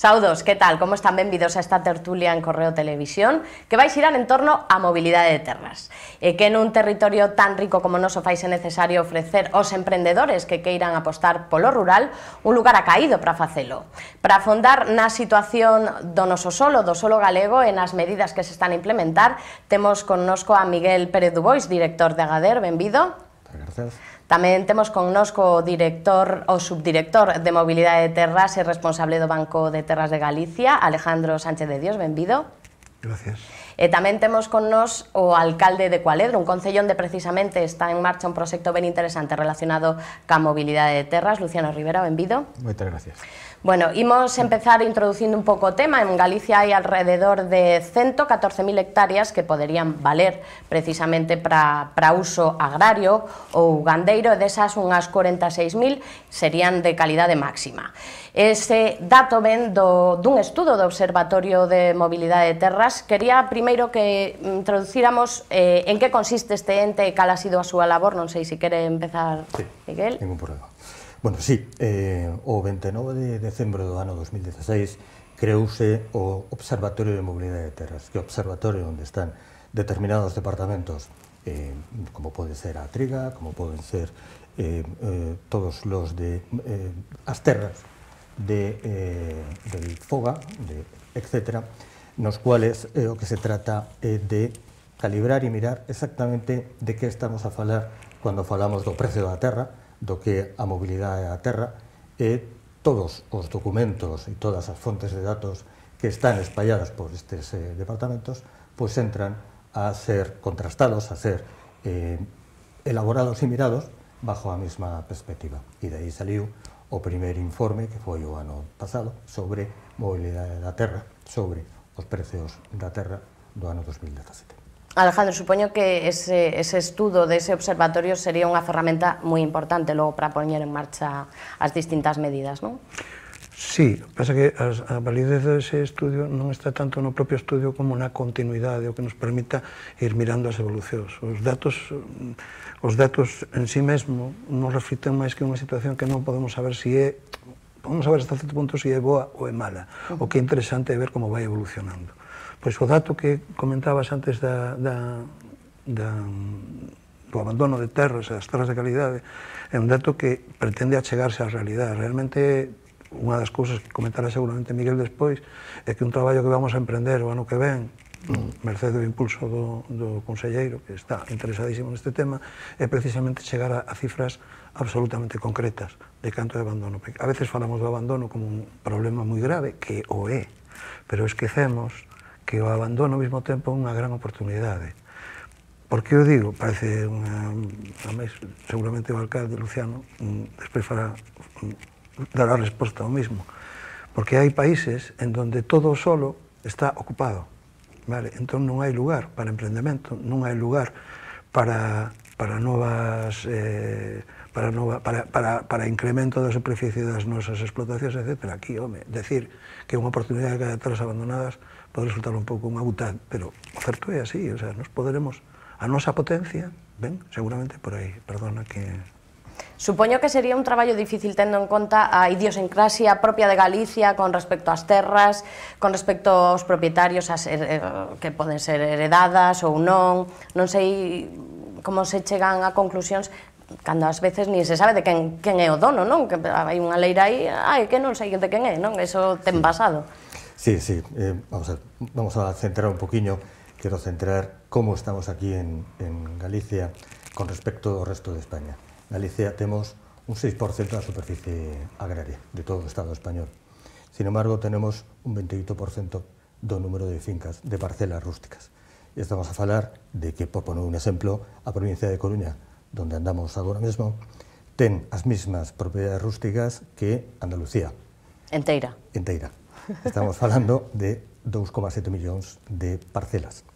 Saudos, que tal? Como están? Benvidos a esta tertulia en Correo Televisión que vai xirar en torno á mobilidade de terras e que nun territorio tan rico como o noso faise necesario ofrecer aos emprendedores que queiran apostar polo rural un lugar acaído para facelo, para afondar na situación do noso solo, do solo galego e nas medidas que se están a implementar. Temos connosco a Miguel Pérez Dubois, director de Agader. Benvido. Gracias. Tamén temos connosco o subdirector de Mobilidade de Terras e responsable do Banco de Terras de Galicia, Alejandro Sánchez de Dios. Benvido. Gracias. E tamén temos con nos o alcalde de Cualedro, un concello onde precisamente está en marcha un proxecto ben interesante relacionado ca mobilidade de terras. Luciano Rivera, benvido. Moitas gracias. Bueno, imos empezar introducindo un pouco o tema. En Galicia hai alrededor de 114.000 hectáreas que poderían valer precisamente para uso agrario ou gandeiro, e desas unhas 46.000 serían de calidade máxima. Ese dato ven dun estudo do Observatorio de Mobilidade de Terras. Quería primeiro que introducíramos en que consiste este ente e cal ha sido a súa labor. Non sei se quere empezar, sí, Miguel. Ningún problema. Bueno, sí, o 29 de decembro do ano 2016 creouse o Observatorio de Mobilidade de Terras, que é o observatorio onde están determinados departamentos, como pode ser a Triga, como poden ser todos los de as terras del Foga, etc., nos cuales o que se trata de calibrar e mirar exactamente de que estamos a falar cando falamos do precio da terra, do que a mobilidade da terra, e todos os documentos e todas as fontes de datos que están espalladas por estes departamentos, pois entran a ser contrastados, a ser elaborados e mirados bajo a mesma perspectiva. E de aí saliu o primeiro informe, que foi o ano pasado, sobre mobilidade da terra, sobre os precios da terra do ano 2017. Alejandro, supoño que ese estudo dese observatorio sería unha ferramenta moi importante logo para poñer en marcha as distintas medidas, non? Sí, pasa que a validez dese estudio non está tanto no propio estudio como na continuidade, o que nos permita ir mirando as evolucións. Os datos en sí mesmo non reflicten máis que unha situación que non podemos saber podemos saber hasta certo punto se é boa ou é mala. O que é interesante é ver como vai evolucionando. Pois o dato que comentabas antes do abandono de terras e das terras de calidade é un dato que pretende achegarse á realidade. Realmente, unha das cousas que comentará seguramente Miguel despois é que un traballo que vamos a emprender o ano que ven, merced do impulso do conselleiro, que está interesadísimo neste tema, é precisamente chegar a cifras absolutamente concretas de canto de abandono. A veces falamos do abandono como un problema moi grave, que o é, pero esquecemos que o abandono ao mesmo tempo é unha gran oportunidade. Por que o digo? Parece seguramente o alcalde Luciano despois dará resposta ao mismo. Porque hai países en donde todo o solo está ocupado. Vale? Entón non hai lugar para emprendemento, non hai lugar para novas para incremento da superficie das nosas explotacións, etc. Aquí, home, decir que unha oportunidade que hai terras abandonadas pode resultar un pouco unha butad, pero o certo é así, o sea, nos poderemos, a nosa potencia, ben, seguramente por aí, perdona que... Supoño que sería un traballo difícil tendo en conta a idiosincrasia propia de Galicia con respecto ás terras, con respecto aos propietarios que poden ser heredadas ou non. Non sei como se chegan a conclusións cando ás veces nin se sabe de quen é o dono, non? Que hai unha leira aí, que non sei de quen é, non? Eso ten pasado. Sí, vamos a centrar un poquinho, quero centrar como estamos aquí en Galicia con respecto ao resto de España. Galicia temos un 6% da superficie agraria de todo o Estado español. Sin embargo, tenemos un 28% do número de fincas, de parcelas rústicas. E estamos a falar de que, por poner un exemplo, a provincia de Coruña, donde andamos agora mesmo, ten as mesmas propiedades rústicas que Andalucía. Enteira. Estamos falando de 2,7 millóns de parcelas.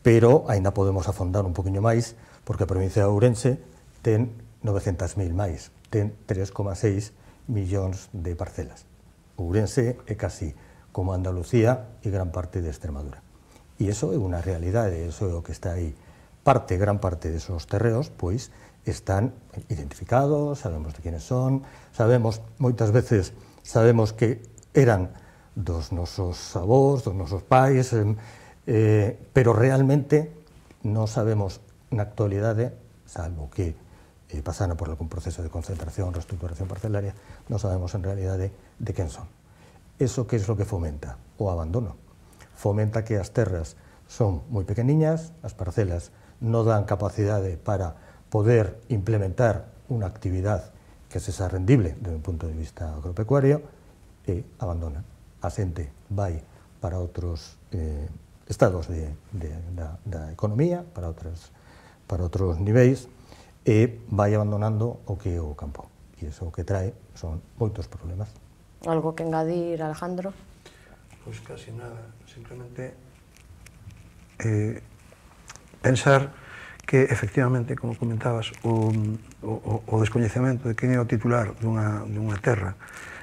Pero ainda podemos afondar un poquinho máis, porque a provincia de Ourense ten 900.000 máis, ten 3,6 millóns de parcelas. Ourense é casi como Andalucía e gran parte de Extremadura. E iso é unha realidade, iso é o que está aí. Gran parte desos terreos, pois, están identificados, sabemos de quenes son, moitas veces sabemos que eran dos nosos avós, dos nosos pais, pero realmente non sabemos na actualidade, salvo que pasaron por algún proceso de concentración, reestructuración parcelaria, non sabemos en realidade de quen son. Eso que é o que fomenta? O abandono. Fomenta que as terras son moi pequeniñas, as parcelas non dan capacidade para poder implementar unha actividade que sexa rendible desde un punto de vista agropecuario e abandona. A xente vai para outros estados da economía, para outros niveis, e vai abandonando o que é o campo. E iso o que trae son moitos problemas. Algo que engadir, Alejandro? Pois casi nada, simplemente pensar que efectivamente, como comentabas, o descoñecemento de quen é o titular dunha terra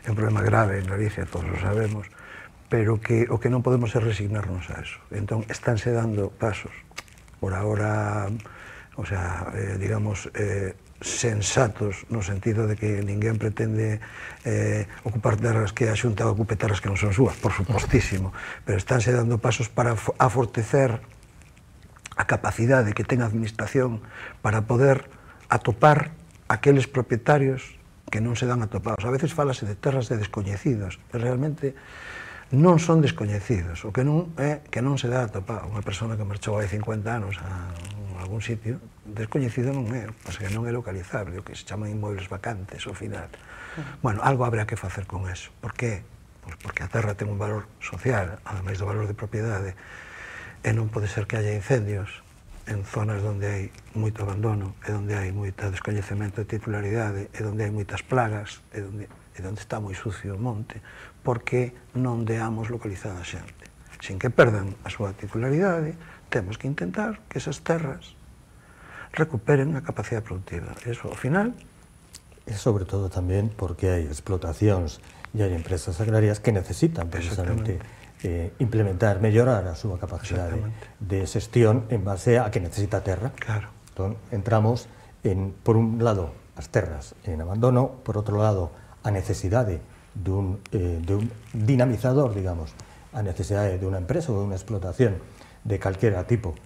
é un problema grave en Galicia, todos o sabemos, pero que o que non podemos é resignarnos a eso. Entón, estánse dando pasos, por agora, o sea, digamos, sensatos no sentido de que ninguén pretende ocupar terras que a Xunta ocupe terras que non son súas, por supostísimo, pero estánse dando pasos para afortecer a capacidade que ten a administración para poder atopar aqueles propietarios que non se dan atopados. A veces falase de terras de descoñecidos, pero realmente non son descoñecidos, o que non é que non se dá atopado. Unha persona que marchou hai 50 anos a algún sitio, descoñecido non é, pois que non é localizable, o que se chaman inmobles vacantes ao final. Bueno, algo habrá que facer con eso. Por que? Pois porque a terra ten un valor social, ademais do valor de propiedade, e non pode ser que haya incendios en zonas onde hai moito abandono, e onde hai moito descoñecemento de titularidade, e onde hai moitas plagas, e onde está moi sucio o monte, porque non deamos localizada a xente. Sin que perdan a súa titularidade, temos que intentar que esas terras recuperen a capacidade productiva. Eso, ao final... E sobre todo tamén porque hai explotacións e hai empresas agrarias que necesitan precisamente implementar, mellorar a súa capacidade de xestión en base a que necesita a terra. Claro. Entón, entramos en, por un lado, as terras en abandono, por outro lado, a necesidade dun dinamizador, digamos, a necesidade de unha empresa ou de unha explotación de calquera tipo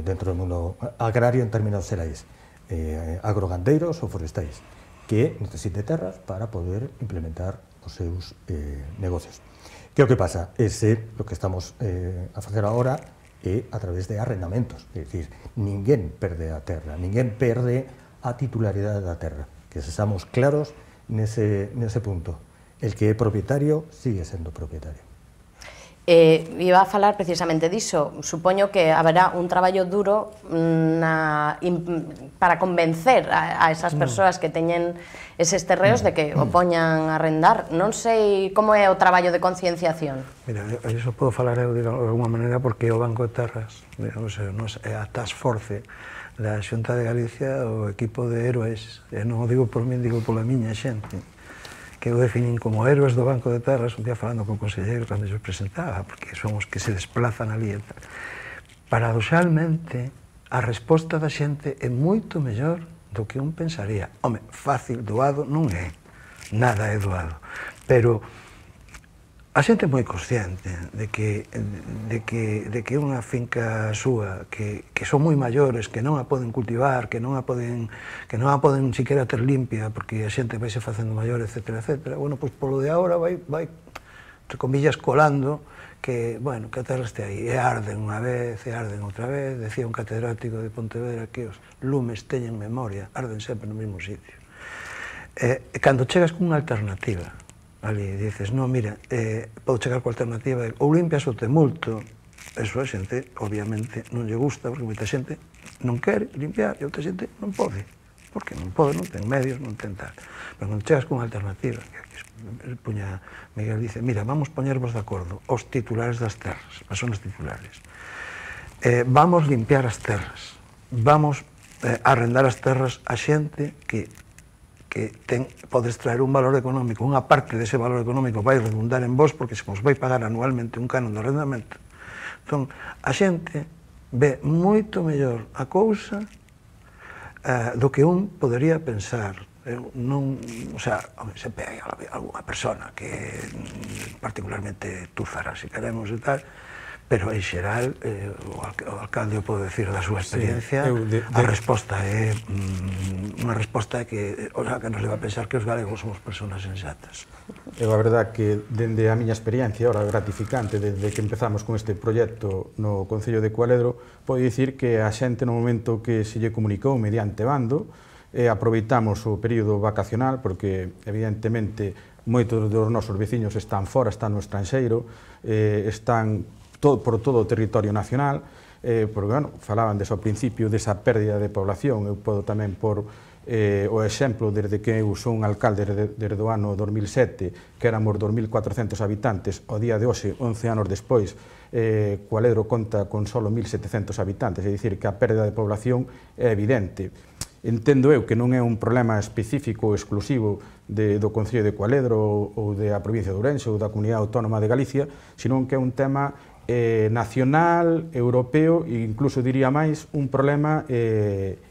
dentro do mundo agrario en términos xerais, agrogandeiros ou forestais, que necesite terras para poder implementar os seus negocios. Que o que pasa? O que estamos a facer agora é a través de arrendamentos, é dicir, ninguén perde a terra, ninguén perde a titularidade da terra, que sexamos claros nese punto. El que é propietario sigue sendo propietario. Iba a falar precisamente diso. Supoño que haberá un traballo duro para convencer a esas persoas que teñen eses terreos de que o poñan a arrendar. Non sei como é o traballo de concienciación. Mira, iso podo falar eu de alguma maneira porque o Banco de Terras, a Task Force da Xunta de Galicia, o equipo de héroes, e non o digo por min, digo pola miña xente, que eu definín como héroes do Banco de Terras, un día falando con o conselleiro cando eu presentaba, porque son os que se desplazan ali e tal. Paradoxalmente, a resposta da xente é moito mellor do que un pensaría. Home, fácil, doado non é, nada é doado, pero a xente é moi consciente de que unha finca súa, que son moi maiores, que non a poden cultivar, que non a poden siquiera ter limpia, porque a xente vai se facendo maior, etcétera, etcétera. Bueno, pois polo de agora vai, entre comillas, colando que, bueno, que a terra este aí. E arden unha vez, e arden outra vez. Decía un catedrático de Pontevedra que os lumes teñen memoria, arden sempre no mesmo sitio. E cando chegas cunha alternativa, ali dices, non, mira, podo chegar coa alternativa, ou limpias ou te multo. Eso a xente, obviamente, non lle gusta, porque moita xente non quere limpiar e outra xente non pode, porque non pode, non ten medios, non ten tal. Pero cando chegas cunha alternativa, Miguel dice, mira, vamos poñervos de acordo os titulares das terras, as persoas titulares. Vamos limpiar as terras, vamos arrendar as terras a xente que pode extraer un valor económico, unha parte dese valor económico vai redundar en vos porque se vos vai pagar anualmente un canon de arrendamento. Entón, a xente ve moito mellor a cousa do que un podería pensar. non, o sea, sempre hai alguna persona que particularmente túzara, se queremos e tal, pero en xeral o alcalde pode decir da súa experiencia, a resposta é unha resposta que nos leva a pensar que os galegos somos personas sensatas. É a verdade que, dende a miña experiencia, ora gratificante, desde que empezamos con este proxecto no Concello de Cualedro, pode dicir que a xente no momento que se lle comunicou mediante bando, aproveitamos o período vacacional, porque evidentemente moitos dos nosos veciños están fora, están no estranxeiro, están por todo o territorio nacional, porque, bueno, falaban desde o principio desa pérdida de población. Eu podo tamén por o exemplo desde que eu son alcalde desde o ano 2007, que éramos 2.400 habitantes, ao día de hoxe, 11 anos despois, Cualedro conta con só 1.700 habitantes, é dicir, que a pérdida de población é evidente. Entendo eu que non é un problema específico ou exclusivo do Concello de Cualedro ou da provincia de Ourense ou da Comunidade Autónoma de Galicia, senón que é un tema nacional, europeo e incluso diría máis un problema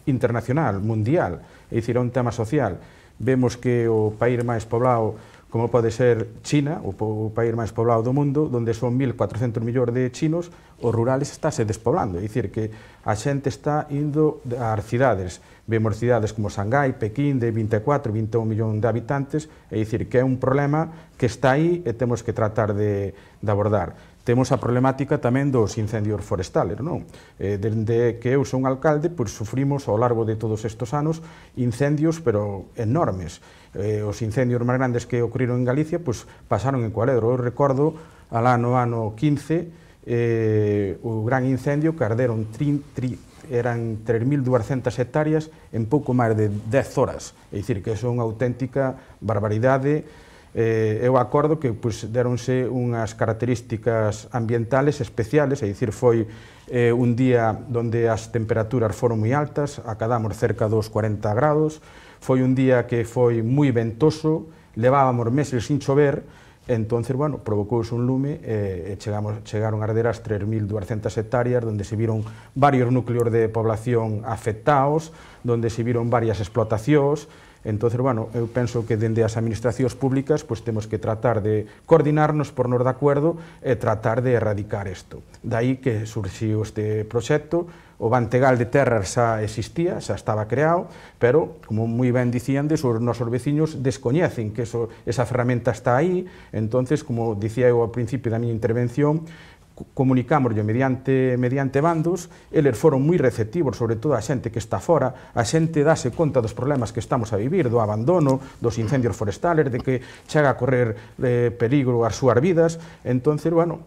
internacional, mundial, é dicir, é un tema social. Vemos que o país máis poblado, como pode ser China, o país máis poblado do mundo, onde son 1.400 millóns de chinos, os rurales estáse despoblando, é dicir, que a xente está indo ás cidades. Vemos cidades como Shanghái, Pekín, de 24, 21 millóns de habitantes, é dicir, que é un problema que está aí e temos que tratar de abordar. Temos a problemática tamén dos incendios forestales, non? Desde que eu son alcalde, pois sufrimos ao largo de todos estes anos incendios, pero enormes. Os incendios máis grandes que ocorreron en Galicia, pois pasaron en Cualedro. Eu recordo, alá no ano 15, o gran incendio que arderon eran 3.200 hectáreas en pouco máis de 10 horas. É dicir, que é unha auténtica barbaridade. Eu acordo que deronse unhas características ambientales especiales, é dicir, foi un día onde as temperaturas foron moi altas, acadamos cerca dos 40 grados, foi un día que foi moi ventoso, levábamos meses sin chover, entonces, bueno, provocouse un lume e chegaron a arder as 3.200 hectáreas, onde se viron varios núcleos de población afectados, onde se viron varias explotacións. Entón, bueno, eu penso que dende as administracións públicas temos que tratar de coordinarnos, pornos de acordo e tratar de erradicar isto. Daí que surxiu este proxecto. O Bantegal de Terras xa existía, xa estaba creado, pero, como moi ben dicíandes, os nosos veciños descoñecen que esa ferramenta está aí. Entón, como dicía eu ao principio da miña intervención, comunicámoslo mediante bandos, eles foron moi receptivos, sobre todo a xente que está fora, a xente dáse conta dos problemas que estamos a vivir, do abandono, dos incendios forestales, de que chega a correr peligro as súas vidas. Entón, bueno,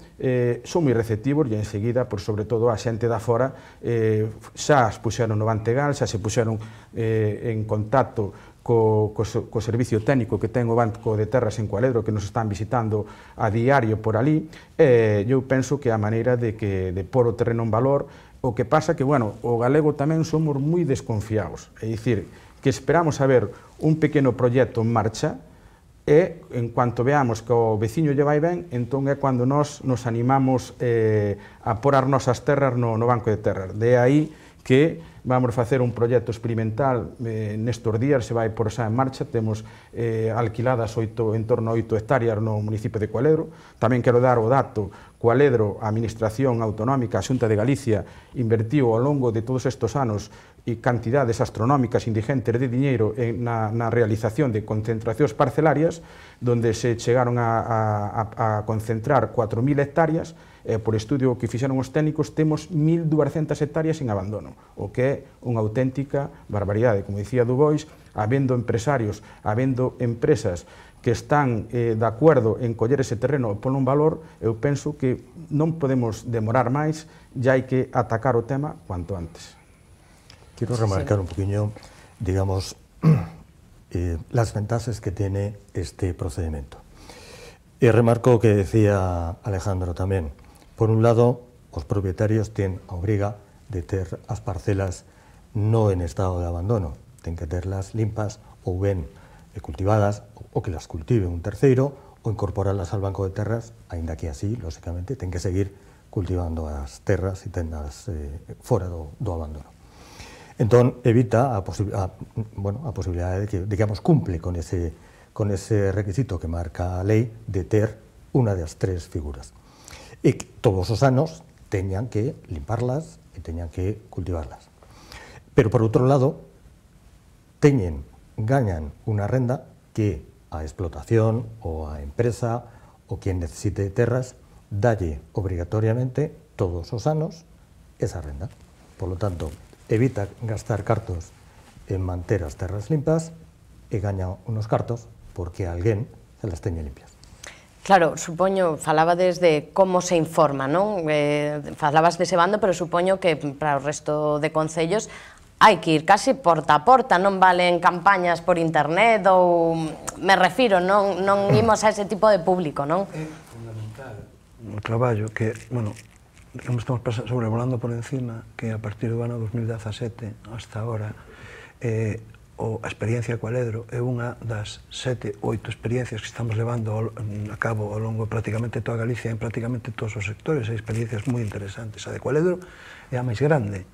son moi receptivos e enseguida, sobre todo a xente da fora, xa as puxeron no Bantegal, xa se puxeron en contacto co servicio técnico que ten o Banco de Terras en Cualedro, que nos están visitando a diario por ali. Eu penso que a maneira de pôr o terreno en valor. O que pasa que, bueno, o galego tamén somos moi desconfiados, é dicir, que esperamos a ver un pequeno proxecto en marcha e, en cuanto veamos que o veciño lle vai ben, entón é cando nos animamos a pôr as nosas terras no Banco de Terras. De aí que vamos facer un proxecto experimental nestes días, se vai por xa en marcha, temos alquiladas en torno a 8 hectáreas no municipio de Cualedro. Tamén quero dar o dato, Cualedro, a Administración Autonómica, a Xunta de Galicia, invertiu ao longo de todos estes anos cantidades astronómicas indigentes de diñeiro na realización de concentracións parcelarias, donde se chegaron a concentrar 4.000 hectáreas. Por estudio que fixeron os técnicos, temos 1.200 hectáreas en abandono, o que é unha auténtica barbaridade. Como dicía Dubois, habendo empresarios, habendo empresas que están de acordo en coller ese terreno e polo un valor, eu penso que non podemos demorar máis, e hai que atacar o tema cuanto antes. Quiero remarcar un poquillo, digamos, las ventajas que tiene este procedimiento. Y remarco lo que decía Alejandro tamén. Por un lado, os propietarios tienen a obriga de ter as parcelas no en estado de abandono, ten que terlas limpas ou ben cultivadas, ou que las cultive un terceiro, ou incorporarlas al banco de terras, aínda que así, lógicamente, ten que seguir cultivando as terras e tendas fora do abandono. Entón, evita a posibilidade de que, digamos, cumple con ese requisito que marca a lei de ter unha das tres figuras. E que todos os anos teñan que limparlas e teñan que cultivarlas. Pero, por outro lado, gañan unha renda que a explotación ou a empresa ou quien necesite terras dalle obrigatoriamente todos os anos esa renda. Por lo tanto, evita gastar cartos en manter as terras limpas e gaña unos cartos porque alguén se las teñe limpias. Claro, supoño, falabades de como se informa, non? Falabas dese bando, pero supoño que para o resto de concellos hai que ir casi porta a porta, non valen campañas por internet ou, me refiro, non imos a ese tipo de público, non? É fundamental o traballo que, bueno, estamos sobrevolando por encima, que a partir do ano 2017 hasta ahora, a experiencia Cualedro é unha das 7 ou 8 experiencias que estamos levando a cabo ao longo de prácticamente toda Galicia en prácticamente todos os sectores. Hai experiencias moi interesantes. A de Cualedro é a máis grande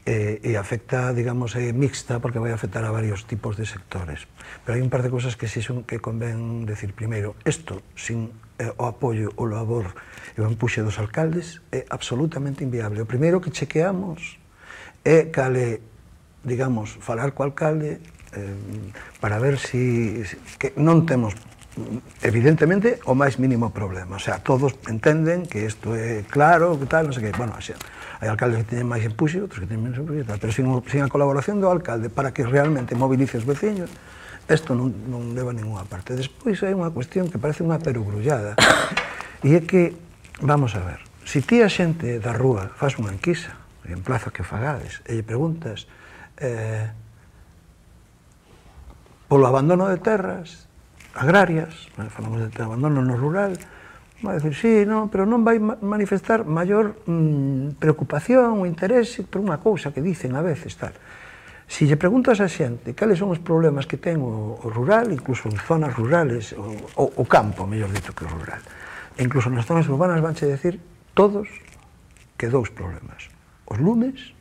e afecta, digamos, é mixta porque vai afectar a varios tipos de sectores. Pero hai un par de cosas que sí son que convén decir. Primeiro, isto sin o apoio, o labor e o empuxe dos alcaldes é absolutamente inviable. O primeiro que chequeamos é cale, digamos, falar co alcalde para ver si que non temos evidentemente o máis mínimo problema, o sea, todos entenden que isto é claro, que tal, non sei que, bueno, hai alcaldes que teñen máis empuxe, outros que teñen menos empuxe, pero sin a colaboración do alcalde para que realmente movilice os veciños, isto non leva a ninguna parte. Despois hai unha cuestión que parece unha perogrullada, e é que, vamos a ver, se ti a xente da rúa faz unha enquisa, en plaza que fagades, e lle preguntas polo abandono de terras agrarias, falamos de abandono no rural, vai dicir, sí, non, pero non vai manifestar maior preocupación ou interese por unha cousa que dicen a veces, tal. Se lle preguntas a xente cales son os problemas que ten o rural, incluso en zonas rurales, o campo, mellor dito que o rural, e incluso nas zonas urbanas vanche decir todos que dous problemas, os lumes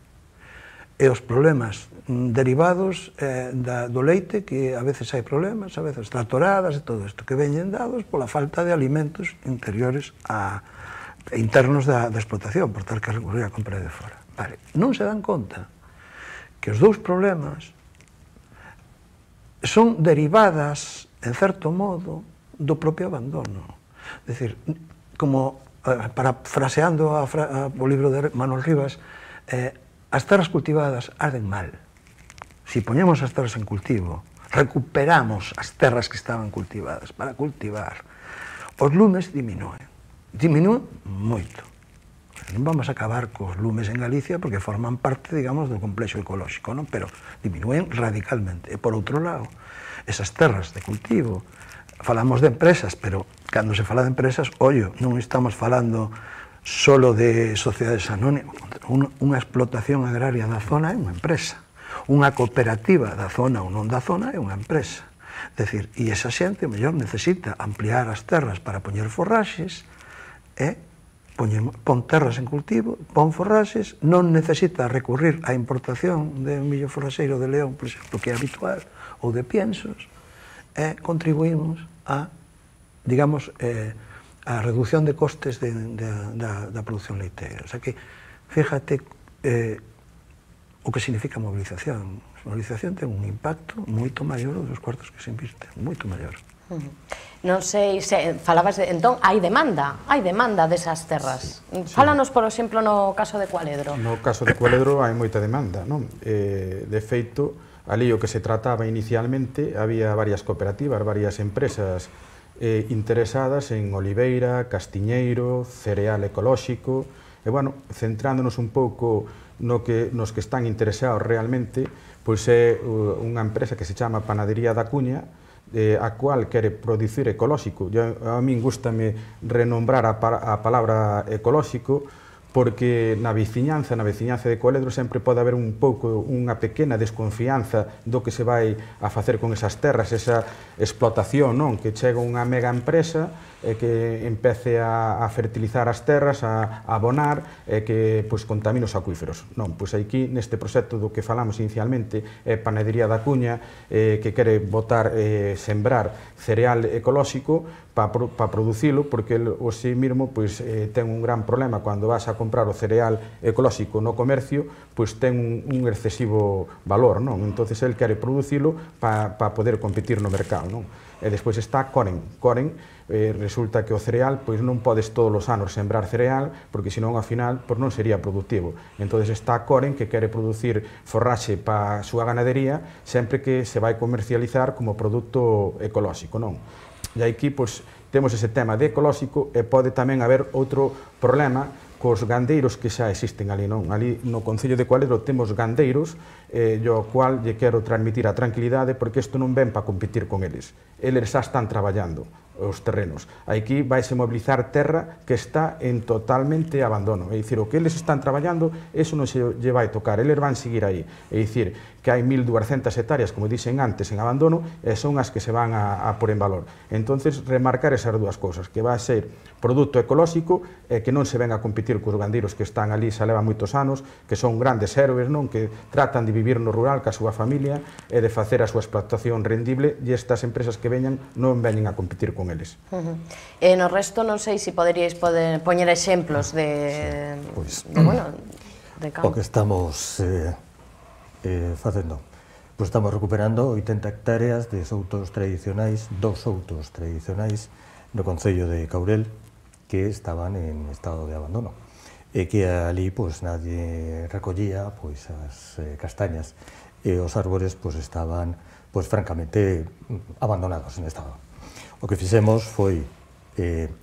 e os problemas derivados do leite, que a veces hai problemas, a veces tractoradas e todo isto, que veñen dados pola falta de alimentos interiores internos da explotación, por tal que recurrir a compra de fora. Vale, non se dan conta que os dous problemas son derivadas, en certo modo, do propio abandono. É dicir, como, parafraseando o libro de Manuel Rivas, as terras cultivadas arden mal. Se poñemos as terras en cultivo, recuperamos as terras que estaban cultivadas para cultivar, os lumes diminúen moito. Non vamos a acabar cos lumes en Galicia porque forman parte, digamos, do complexo ecolóxico, non? Pero diminúen radicalmente. E por outro lado, esas terras de cultivo, falamos de empresas, pero cando se fala de empresas, ollo, non estamos falando solo de sociedades anónimas. Unha explotación agraria da zona é unha empresa. Unha cooperativa da zona ou non da zona é unha empresa. Decir, e esa xente, mellor, necesita ampliar as terras para poñer forraxes, pon terras en cultivo, pon forraxes, non necesita recurrir á importación de millo forraxeiro de León, por exemplo, que é habitual, ou de piensos, e contribuímos a, digamos, a reducción de costes da produción leiteira. O sea que, fíjate, o que significa a movilización. A movilización ten un impacto moito maior dos cuartos que se invisten, moito maior. Non sei se falabas de, entón, hai demanda desas terras. Fálanos, por exemplo, no caso de Cualedro. No caso de Cualedro hai moita demanda, non? De feito, ali o que se trataba inicialmente, había varias cooperativas, varias empresas interesadas en oliveira, castiñeiro, cereal ecolóxico, e, bueno, centrándonos un pouco nos que están interesados realmente, pois é unha empresa que se chama Panadería da Cuña, a cual quere producir ecolóxico. A min gústame renombrar a palabra ecolóxico, porque na veciñanza de Cualedro sempre pode haber un pouco, unha pequena desconfianza do que se vai a facer con esas terras, esa explotación, non? Que chega unha mega empresa que empece a fertilizar as terras, a abonar, e que contamine os acuíferos. Non, pois aquí neste proxecto do que falamos inicialmente é Panadería da Cuña, que quere botar, sembrar cereal ecolóxico para producilo, porque o si mesmo ten un gran problema cando vas a comprar o cereal ecolóxico no comercio, pois ten un excesivo valor, non? Entonces el quere producilo para poder competir no mercado, non? E despois está Coren. Resulta que o cereal non podes todos os anos sembrar cereal, porque senón ao final non sería productivo. Entón está Coren, que quere producir forraxe para a súa ganadería sempre que se vai comercializar como produto ecolóxico, non? E aquí temos ese tema de ecolóxico, e pode tamén haber outro problema cos gandeiros que xa existen ali, non? Ali no Concello de Cualedro temos gandeiros, ao cual lle quero transmitir a tranquilidade, porque isto non ven para competir con eles. Eles xa están traballando os terrenos. Aquí vaise mobilizar terra que está en totalmente abandono. É dicir, o que eles están traballando, eso non se lle vai tocar, eles van seguir aí. É dicir, que hai 1.200 hectáreas, como dixen antes, en abandono, e son as que se van a pôr en valor. Entonces, remarcar esas dúas cousas, que vai ser produto ecolóxico, e que non se ven a competir cos gandeiros que están ali, xa leva moitos anos, que son grandes héroes, non? Que tratan de vivir no rural ca súa familia e de facer a súa explotación rendible, e estas empresas que veñan non veñen a competir con eles. E no resto non sei se poderíais poñer exemplos de campo. O que estamos facendo, estamos recuperando 80 hectáreas de soutos tradicionais, 2 soutos tradicionais no Concello de Caurel, que estaban en estado de abandono, e que ali nadie recollía as castañas, e os árbores estaban francamente abandonados en estado. O que fixemos foi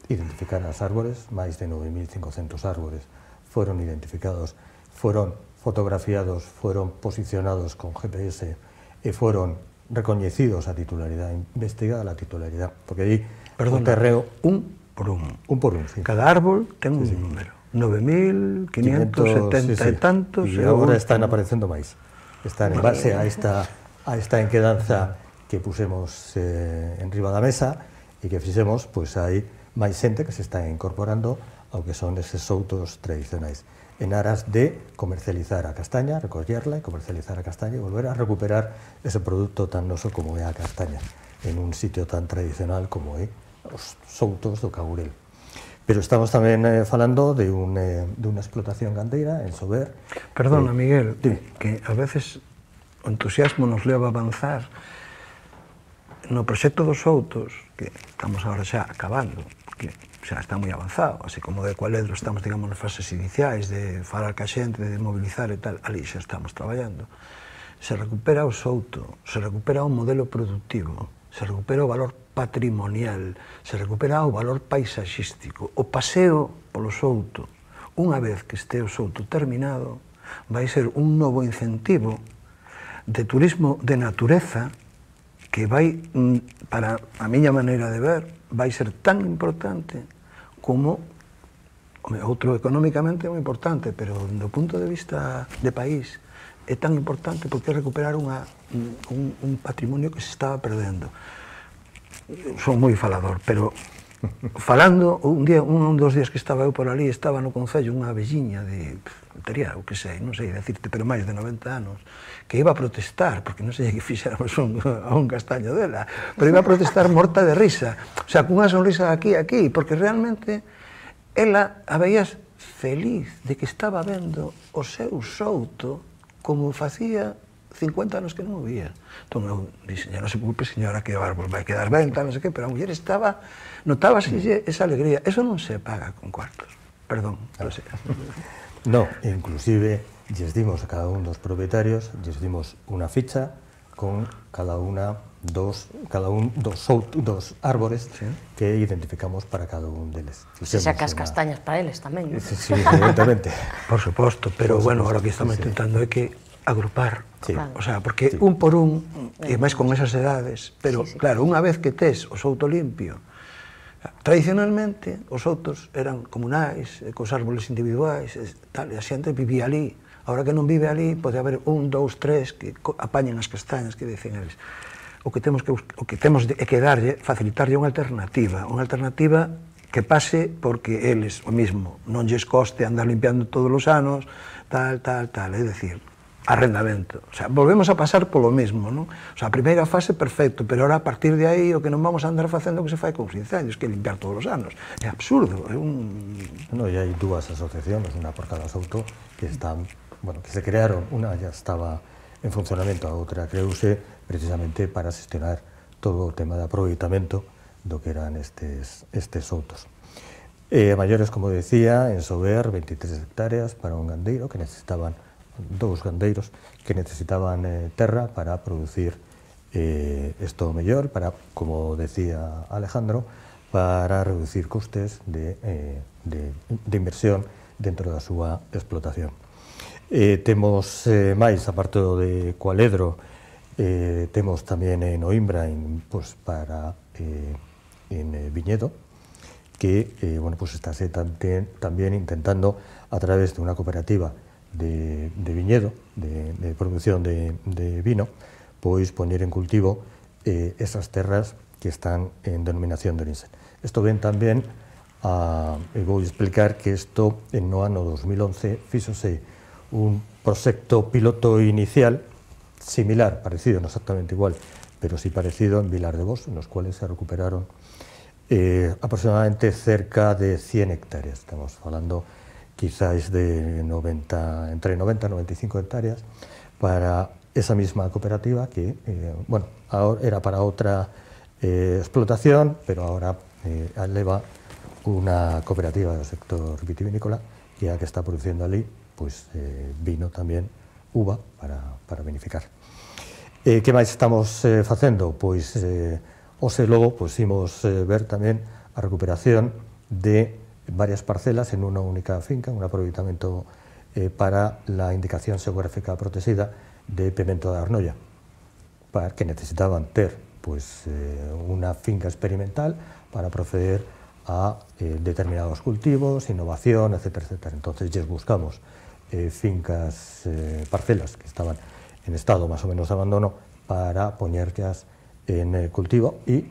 identificar as árbores, máis de 9.500 árbores foron identificados, foron fotografiados, foron posicionados con GPS e foron recoñecidos a titularidade, investigada a titularidade, porque aí o terreo un por un. Un por un, sí. Cada árbol ten un número, 9.570 e tantos, e agora están aparecendo máis. Están en base a esta enquedanza que pusemos en riba da mesa, e que fixemos, hai máis xente que se está incorporando ao que son eses soutos tradicionais, en aras de comercializar a castaña, recollerla e comercializar a castaña e volver a recuperar ese produto tan noso como é a castaña, en un sitio tan tradicional como é os soutos do Caurel. Pero estamos tamén falando de unha explotación gandeira en Sober. Perdona, Miguel, que a veces o entusiasmo nos leva a avanzar. No proxecto dos soutos, que estamos agora xa acabando, que xa está moi avanzado, así como de Cualedro estamos, digamos, nas fases iniciais de falar ca xente, de mobilizar e tal, ali xa estamos traballando. Se recupera o souto, se recupera o modelo productivo, se recupera o valor patrimonial, se recupera o valor paisaxístico, o paseo polo souto. Unha vez que este o souto terminado, vai ser un novo incentivo de turismo de natureza que vai, para a miña maneira de ver, vai ser tan importante como outro económicamente é moi importante, pero do punto de vista de país é tan importante porque é recuperar un patrimonio que se estaba perdendo. Son moi falador, pero falando, un dos días que estaba eu por ali, estaba no Concello unha velliña de, tería, o que sei, non sei decirte, pero máis de 90 anos, que iba a protestar, porque non sei que fixéramos a un castaño dela, pero iba a protestar morta de risa, o sea, cunha sonrisa aquí, porque realmente ela a veías feliz de que estaba vendo o seu souto como facía 50 anos que non o vía. Entón eu dixen, non se preocupe, señora, que o árbol vai quedar ben, tal, non sei que, pero a muller estaba, notábase esa alegría. Eso non se paga con cuartos. Perdón, non sei. No, inclusive, lles dimos a cada un dos propietarios, lles dimos unha ficha con cada un dos árbores que identificamos para cada un deles. Se sacas castañas para eles tamén. Sí, evidentemente. Por suposto, pero bueno, ahora que estamos intentando é que agrupar, o sea, porque un por un, e máis con esas edades, pero claro, unha vez que tes o souto limpio, tradicionalmente os soutos eran comunais, cos árboles individuais, tal, e a xente vivía ali. Ahora que non vive ali, pode haber un, dous, tres que apañen as castañas que dicen eles. o que temos que darlle, facilitarlle unha alternativa que pase porque eles o mismo non lles coste andar limpiando todos os anos, tal, é dicir, arrendamento. O sea, volvemos a pasar polo mesmo, non? O sea, a primeira fase, perfecto, pero ahora a partir de aí o que non vamos a andar facendo que se fai con os incendios, que limpiar todos os anos. É absurdo, é un... No, e hai dúas asociaciones, unha por cada souto, que están, bueno, que se crearon, unha ya estaba en funcionamento, a outra creouse precisamente para xestionar todo o tema de aproveitamento do que eran estes soutos. A maiores, como decía, en Sober, 23 hectáreas para un gandeiro que necesitaban, dous gandeiros que necesitaban terra para producir isto mellor, para, como decía Alejandro, para reducir costes de inversión dentro da súa explotación. Temos máis, aparte de Cualedro, temos tamén en Oimbra para en Viñedo, que estáse tamén intentando a través de unha cooperativa de viñedo, de producción de vino, pois poñer en cultivo esas terras que están en denominación de origen. Isto ven tamén vou explicar que isto no ano 2011 fíxose un proxecto piloto inicial similar, parecido, non exactamente igual, pero sí parecido en Vilar de Bos, nos cuales se recuperaron aproximadamente cerca de 100 hectáreas. Estamos falando quizás de entre 90 y 95 hectáreas para esa misma cooperativa que, era para otra explotación, pero ahora eleva una cooperativa del sector vitivinícola que está produciendo ali vino tamén, uva, para vinificar. Que máis estamos facendo? Pois hoxe logo imos ver tamén a recuperación de varias parcelas en unha única finca, un aproveitamento para la indicación xeográfica protegida de Pemento da Arnoia, que necesitaban ter unha finca experimental para proceder a determinados cultivos, innovación, etcétera. Entonces, lles buscamos fincas, parcelas que estaban en estado máis ou menos de abandono para poñerlas en cultivo e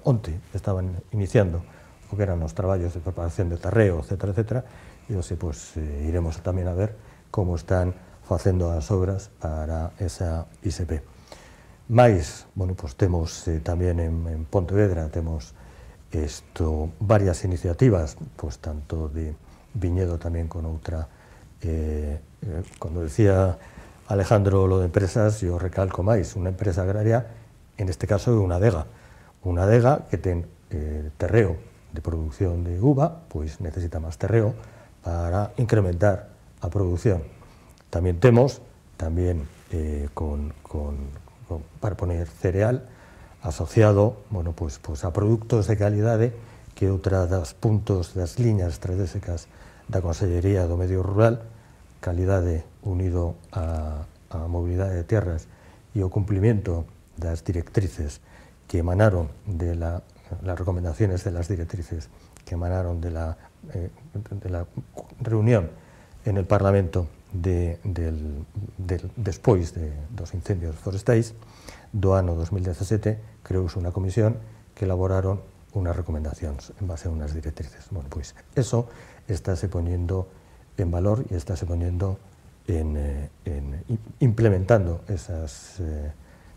onte estaban iniciando o que eran os traballos de preparación de terreo, etcétera, e hoxe iremos tamén a ver como están facendo as obras para esa ISP. Mais, temos tamén en Pontevedra, temos varias iniciativas, tanto de viñedo tamén con outra, cando decía Alejandro lo de empresas, yo recalco máis, unha empresa agraria, en este caso é unha adega que ten terreo de producción de uva, necesita máis terreo para incrementar a producción. Tamén temos, para poner cereal asociado a produtos de calidade, que é outra das puntos das liñas estratégicas da Consellería do Medio Rural, calidade unido a mobilidade de tierras e o cumplimento das directrices que emanaron de las recomendaciones de las directrices que emanaron de la reunión en el Parlamento despois dos incendios forestais do ano 2017, creouse unha comisión que elaboraron unas recomendacións en base a unas directrices. Eso estáse poñendo en valor e estáse poñendo implementando esas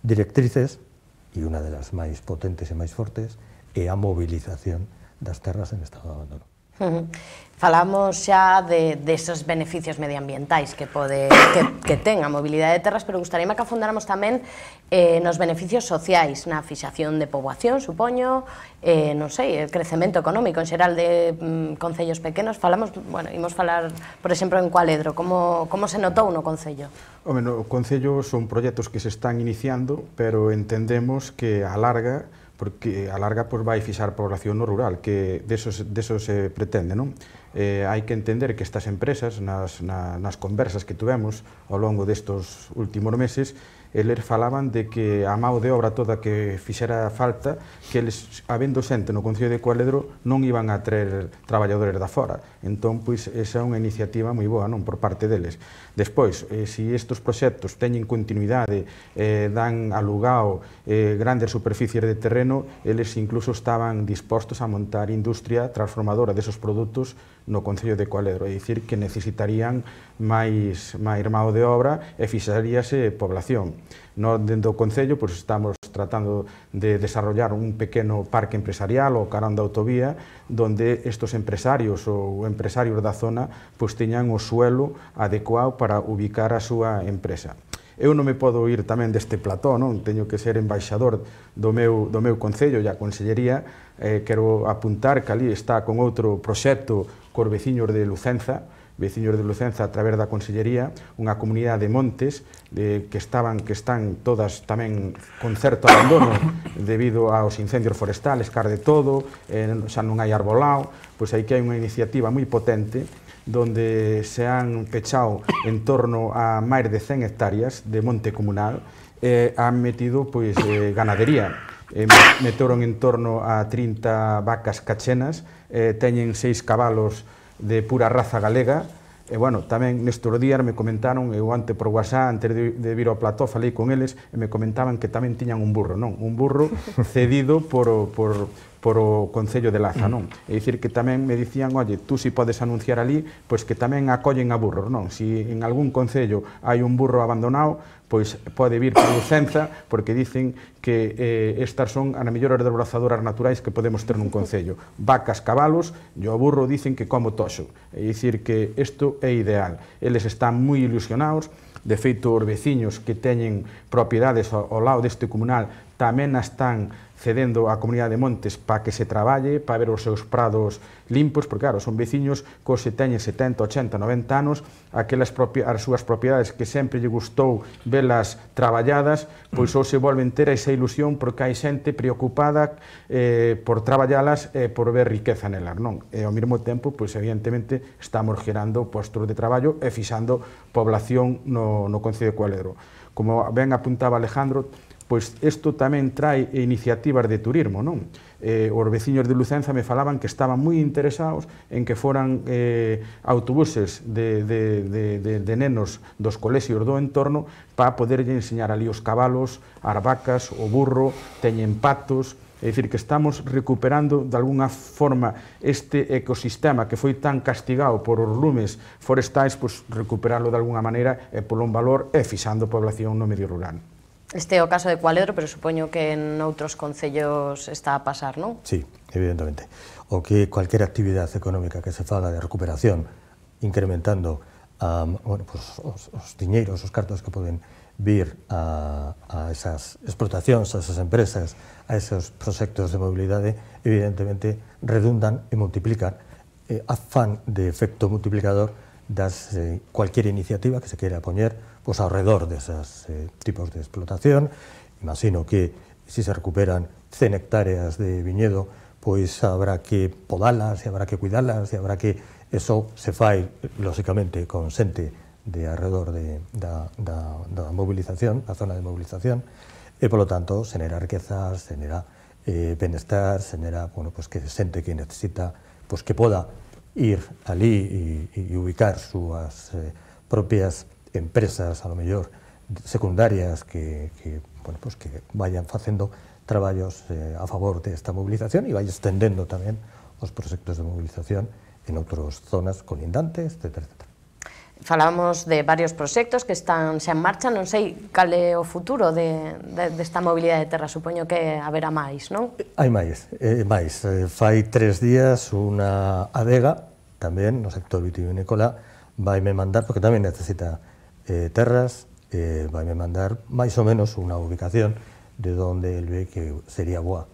directrices, e unha de las máis potentes e máis fortes é a movilización das terras en estado de abandono. Falamos xa desos beneficios medioambientais que ten a mobilidade de terras, pero gustaríame que afondáramos tamén nos beneficios sociais, na fixación de poboación, supoño, non sei, el crecemento económico en xeral de concellos pequenos. Imos falar, por exemplo, en Cualedro, como se notou no concello? No concello son proxectos que se están iniciando, pero entendemos que a larga, porque a larga vai fixar población no rural, que deso se pretende, non? hai que entender que estas empresas, nas conversas que tuvemos ao longo destes últimos meses, eles falaban de que a mão de obra toda que fixera falta, que eles, habendo xente no Concello de Cualedro, non iban a traer traballadores da fora. Entón, pois, esa é unha iniciativa moi boa, non, por parte deles. Despois, se estes proxectos teñen continuidade, dan alugado grandes superficies de terreno, eles incluso estaban dispostos a montar industria transformadora desos produtos no Concello de Cualedro, é dicir, que necesitarían máis mão de obra e fixaríase población. Nós, dentro do Concello, estamos tratando de desarrollar un pequeno parque empresarial ou carón da autovía donde estes empresarios ou empresarios da zona teñan o suelo adecuado para ubicar a súa empresa. Eu non me podo ir tamén deste plató, non? Teño que ser embaixador do meu Concello e a Consellería. Quero apuntar que ali está con outro proxecto cos veciños de Lucenza, a través da Consellería, unha comunidade de montes que están todas tamén con certo abandono debido aos incendios forestales, car de todo, xa non hai arbolado, pois aí que hai unha iniciativa moi potente donde se han pechado en torno a máis de 100 hectáreas de monte comunal e han metido ganadería. Meteron en torno a 30 vacas cachenas, teñen 6 cabalos de pura raza galega, e, bueno, tamén nestes días me comentaron, eu antes por WhatsApp, antes de vir ao plató, falei con eles, e me comentaban que tamén tiñan un burro, non? Un burro cedido por o Concello de Laza, non? É dicir, que tamén me dicían, oye, tú si podes anunciar ali, pois que tamén acollen a burros, non? Si en algún Concello hai un burro abandonado, pois pode vir por Lucenza, porque dicen que estas son as mellores desbrozadoras naturais que podemos ter nun Concello. Vacas, cabalos, e o burro dicen que como toxo. É dicir, que isto é ideal. Eles están moi ilusionados, de feito, os veciños que teñen propiedades ao lado deste comunal tamén están cedendo á comunidade de montes para que se traballe, para ver os seus prados limpos, porque, claro, son veciños que se teñen 70, 80, 90 anos, as súas propiedades que sempre lle gustou velas traballadas, pois ou se volven ter esa ilusión porque hai xente preocupada por traballalas e por ver riqueza nelas, non? E ao mesmo tempo, pois, evidentemente, estamos gerando postos de traballo e fixando población no Concello de Cualedro. Como ben apuntaba Alejandro, pois isto tamén trae iniciativas de turismo, non? Os veciños de Lucenza me falaban que estaban moi interesados en que foran autobuses de nenos dos colexios do entorno para poderlle enseñar ali os cabalos, as vacas, o burro, teñen patos. É dicir, que estamos recuperando de alguna forma este ecosistema que foi tan castigado por os lumes forestais, pois recuperarlo de alguna maneira e polo un valor e fixando población no medio rural. Este é o caso de Cualedro, pero supoño que en outros concellos está a pasar, non? Sí, evidentemente. O que cualquier actividade económica que se faga de recuperación, incrementando os diñeiros, os cartos que poden vir a esas explotacións, a esas empresas, a esos proxectos de mobilidade, evidentemente redundan e multiplican afán de efecto multiplicador das cualquier iniciativa que se queira poñer ao redor deses tipos de explotación. Imagino que se recuperan 100 hectáreas de viñedo, pois habrá que podalas, e habrá que cuidalas, e habrá que... Eso se fai, lóxicamente, con xente de alrededor da movilización, da zona de movilización, e, polo tanto, xenera riquezas, xenera benestar, xenera, que xente que necesita, que poda ir ali e ubicar súas propias empresas, a lo mellor secundarias, que vayan facendo traballos a favor desta movilización e vai estendendo tamén os proxectos de movilización en outras zonas colindantes, etc. Falábamos de varios proxectos que están xa en marcha, non sei cal é o futuro desta mobilidade de terra, supoño que haberá máis, non? Hai máis. Fai 3 días unha adega, tamén no sector vitivinícola, vaime mandar, porque tamén necesita terras, vaime mandar máis ou menos unha ubicación de onde el ve que sería boa.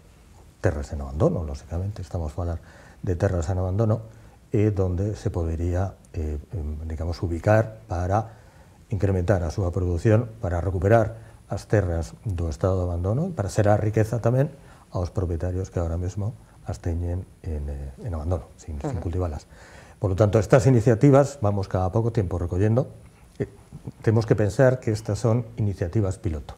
Terras en abandono, lóxicamente, estamos a falar de terras en abandono, e donde se podería, digamos, ubicar para incrementar a súa produción, para recuperar as terras do estado de abandono, e para xerar riqueza tamén aos propietarios que agora mesmo as teñen en abandono, sin cultivalas. Por lo tanto, estas iniciativas vamos cada poco tiempo recollendo. Tenemos que pensar que estas son iniciativas piloto